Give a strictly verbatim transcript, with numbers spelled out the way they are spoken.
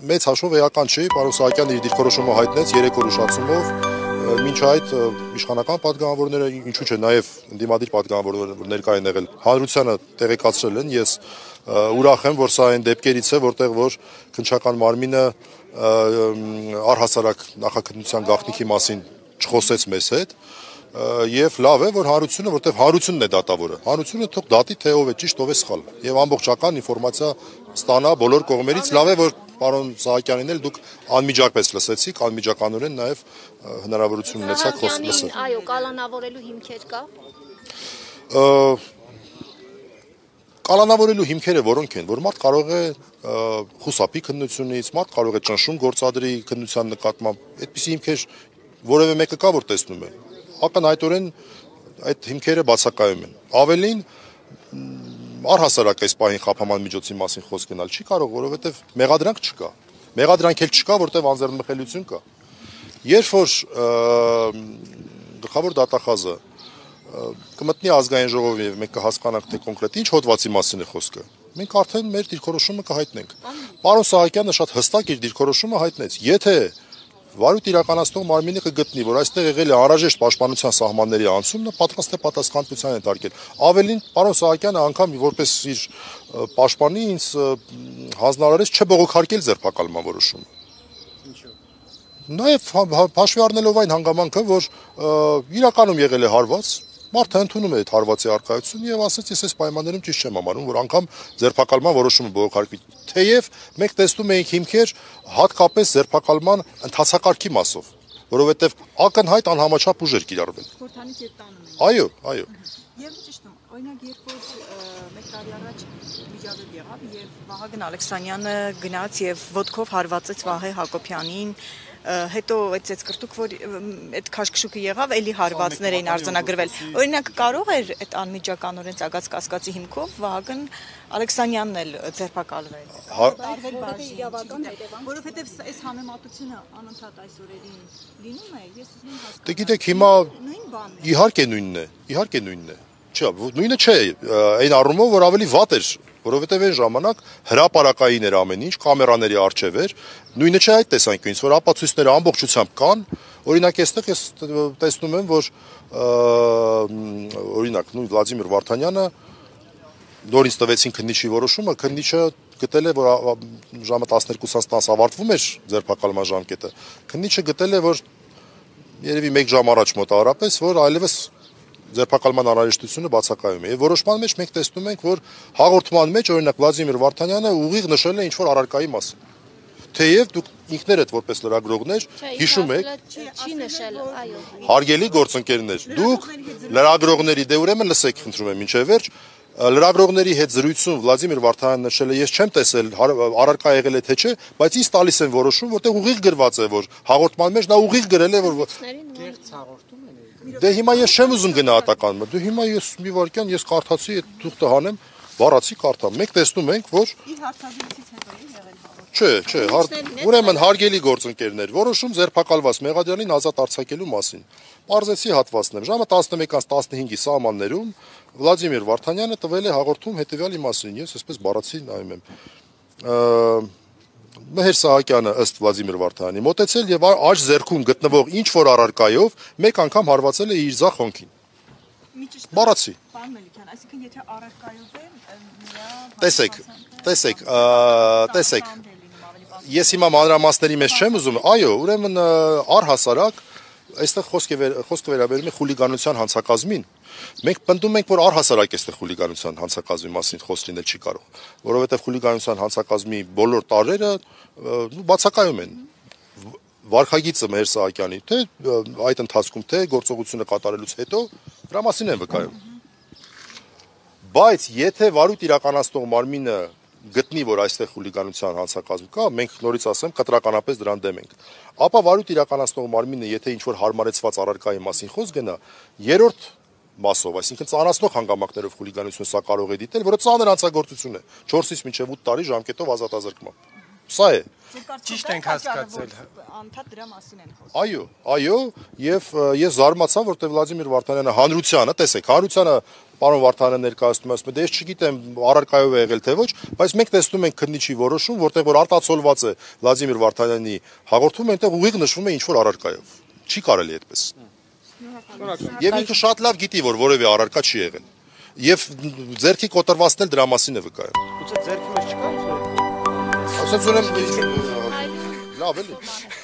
մեծ հաշվով էական չի, պարոն Սահակյանն իր դիրքորոշումը հայտնեց երեք օր ուշացումով, մինչ այդ իշխանական պատգամավորները, ինչու՞ չէ, նաև ընդդիմադիր պատգամավորներ ներկա են եղել, հանրությանը տեղեկացրել են, ես ուրախ եմ, որ սա այն դեպքերից է, որտեղ որ քննչական մարմինը առհասարակ նախաքննության գաղտնիքի մասին չխոսեց մեզ հետ, եւ լավ է, որ հանրությունը, որտեղ հանրությունն է դատավորը, հանրությունը թող դատի, թե ով է ճիշտ, ով է սխալ, եւ ամբողջական ինֆորմացիա ստանա բոլոր կողմերից, լավ է, որ պարոն Սահակյանին էլ դուք անմիջապես լսեցիք, անմիջականորեն նաև հնարավորություն ունեցաք խոսել։ Այո, կալանավորելու հիմքեր կա։ Կալանավորելու հիմքերը որոնք են, որ մարդ կարող է խուսափի քննությունից, մարդ կարող է ճնշում գործադրի քննության նկատմամբ, այդպիսի հիմքեր որևէ մեկը կա, որ տեսնում է։ Ակնհայտորեն այդ հիմքերը բացակայում են։ Ավելին առհասարակ այս պահին խափաման միջոցի մասին խոսք գնալ չի կարող, որովհետև մեղադրանք չկա։ Մեղադրանք էլ չկա, որտեղ անձեռնմխելիություն կա։ Երբ որ գլխավոր դատախազը կմտնի ազգային ժողովին եւ մենք կհասկանանք, թե կոնկրետ ինչ հոդվածի մասին է խոսքը, մենք արդեն մեր դիրքորոշումը կհայտնենք։ Պարոն Սահակյանը շատ հստակ իր դիրքորոշումը հայտնեց։ Եթե վարույթ իրականացնող մարմինը կգտնի, որ այստեղ եղել է անհրաժեշտ պաշտպանության սահմանների անցումն, պատրաստ է պատասխանատվության ենթարկել։ Ավելին, պարոն Սահակյանը անգամ որպես իր պաշտպանի ինձ հանձնարարեց չբողոքարկել ձերբակալման որոշումը։ Նաև հաշվի առնելով այն հանգամանքը, որ իրականում եղել է հարված, մարդը ընդունում է այդ հարվածի առկայությունը եւ ասաց, ես այս պայմաններում ճիշտ չեմ համարում, որ անգամ ձերբակալման որոշումը բողոքարկվի։ Թեև մենք տեսնում էինք հիմքեր հատկապես ձերբակալման ընթացակարգի մասով, որովհետեւ ակնհայտ անհամաչափ ուժ էր կիրառվել։ Խորհրդանից եւ տանում են։ Այո, այո։ Եվ ճիշտ է, օրինակ երբ որ մեկ տարի առաջ միջավեպ եղավ եւ Վահագն Ալեքսանյանը գնաց եւ ոտքով հարվածեց Վահե Հակոբյանին, հետո այդ ծեցկրտուկ, որ այդ քաշքշուկը եղավ, էլի հարվածներ էին արձանագրվել։ Օրինակ կարող էր այդ անմիջականորեն ծագած կասկածի հիմքով Վահագն Ալեքսանյանն էլ ձերբակալվել։ Տարվել բաժին, որովհետև այս համեմատությունը անընդհատ այս օրերին լինում է, ես ուզում եմ հասկանալ։ Դե գիտեք, հիմա իհարկե նույնն է, իհարկե նույնն է։ Չէ, նույնը չէ, այն առումով, որ ավելի վատ էր, որովհետև այն ժամանակ հրապարակային էր ամեն ինչ, կամերաների առջև էր, նույնը չէ այդ տեսանկյունից, որ ապացույցները ամբողջությամբ կան, օրինակ այստեղ ես տեսնում եմ, որ օրինակ նույն Վլադիմիր Վարդանյանը նորից տվեցին քննիչի որոշումը, քննիչը գտել է, որ ժամը տասներկուսից տասը ավարտվում էր ձերբակալման ժամկետը, քննիչը գտել է, որ երևի մեկ ժամ առաջ մոտավորապես, որ այլևս ձերբակալման անհրաժեշտությունը բացակայում է։ Եվ որոշման մեջ մենք տեսնում ենք, որ հաղորդման մեջ օրինակ Վլադիմիր Վարդանյանը ուղիղ նշել է ինչ-որ առարկայի մասին։ Թեև դուք ինքներդ որպես լրագրողներ հիշում եք, չի նշել, այո։ հարգելի գործընկերներ, դուք լրագրողների, դե ուրեմն լսեք, խնդրում եմ, մինչև վերջ, լրագրողների հետ զրույցում Վլադիմիր Վարդանյանը նշել է, ես չեմ տեսել առարկա եղել է թե չէ, բայց ինձ տալիս են որոշում, որտեղ ուղիղ գրված է, որ հաղորդման մեջ նա ուղիղ գրել է, որ Կեղծ հաղորդում են։ Դե հիմա ես չեմ ուզում գնահատականը, դե հիմա ես մի վարքյան ես կարդացի, այդ թուղթը հանեմ, բառացի կարդամ։ Մենք տեսնում ենք, որ Իր հարցազրույցից հետո է եղել հաղորդում։ Չէ, չէ, ուրեմն հարգելի գործընկերներ, որոշում ձերբակալված մեղադրյալին ազատ արձակելու մասին։ Պարզեցի հատվածներ։ Ժամը տասնմեկից տասնհինգի սահմաններում Վլադիմիր Վարդանյանը տվել է հաղորդում հետևյալի մասին, ես այսպես բառացի նայում եմ։ Մեհեր Սահակյանը ըստ Վլադիմիր Վարդանյանի մոտեցել եւ աջ ձեռքում գտնվող ինչ որ առարկայով մեկ անգամ հարվածել է իր ձախ հոնքին։ Բառացի։ Պարոն Մելիքյան, այսինքն եթե առարկայով է, Տեսեք, տեսեք, տեսեք։ Ես հիմա մանրամասների մեջ չեմ ուզում, այո, ուրեմն առհասարակ այստեղ խոսքը վերաբերում է խուլիգանության հանցակազմին։ Մենք պնդում ենք, որ առհասարակ այստեղ խուլիգանության հանցակազմի մասին խոսք լինել չի կարող, որովհետև խուլիգանության հանցակազմի բոլոր տարրերը բացակայում են։ Վարքագիծը Մեհեր Սահակյանի, թե այդ ընթացքում, թե գործողությունը կատարելուց հետո դրա մասին են վկայում։ Բայց եթե վարույթ իրականացնող մարմինը գտնի, որ այստեղ խուլիգանության հանցակազմ կա, մենք նորից ասեմ, կտրականապես դրան դեմ ենք։ Ապա վարույթ իրականացնող մարմինը, եթե ինչ-որ հարմարեցված առարկայի մասին խոսք գնա, երրորդ մասով, այսինքն ծանրացնող հանգամանքներով խուլիգանություն սա կարող է դիտել, որը ծանր հանցագործություն է, չորսից մինչև ութ տարի ժամկետով ազատազրկման։ Սա է։ Ճիշտ ենք հասկացել։ Անդադ դրա մասին են խոսում։ Այո, այո, եւ ես զարմացա, որտեղ Վլադիմիր Վարդանյանը հանրությանը, տեսեք, հանրությանը պարոն Վարդանյանը ներկայացնում է, ասում է, դե ես չգիտեմ առարկայով է եղել թե ոչ, բայց մենք տեսնում ենք քննիչի որոշում, որտեղ որ արտացոլված է Վլադիմիր Վարդանյանի հաղորդումը, այնտեղ ուղիղ նշվում է ինչ որ առարկայով։ Չի կարելի այդպես։ Եվ ինքը շատ լավ գիտի, որ որևէ առարկա չի եղել։ Եվ ձերքի կոտրվածն էլ դրա մասին է վկայում։ Գուցե ձերքի մեջ չկա։ Ասած ունեմ լավ էլի։